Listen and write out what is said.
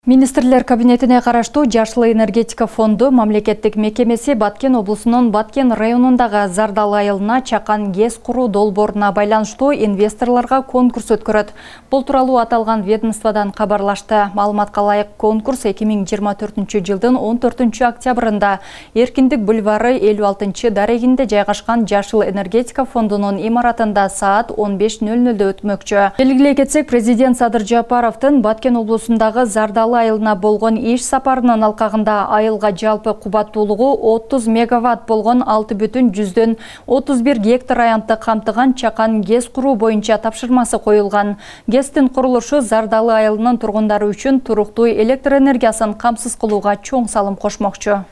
Министрлер кабинетине караштуу Жашыл энергетика фонду мамлекеттик мекемеси Баткен облусунун Баткен районундагы Зардал айылына чакан ГЭС куруу долбооруна байланыштуу инвесторлорго конкурс өткөрөт. Бул тууралуу аталган ведомстводан кабарлашты. Маалыматка ылайык, конкурс 2024-жылдын 14 октябрында Эркиндик бульвары 56 дарегинде жайгашкан Жашыл энергетика фондунун имаратында саат 15:00 өтмөкчү. Белгилей кетсек, президент Садыр Жапаровдун Баткен облусундагы Зардал айылына болгон иш сапарынын алкагында айылга жалпы кубаттуулугу 30 мегаватт болгон 6,31 гектар аянтты камтыган чакан ГЭС куруу боюнча тапшырмасы коюлган. ГЭСтин курулушу Зардалы айылынын тургундары үчүн туруктуу электр энергиясын камсыз кылууга чоң салым кошмокчу.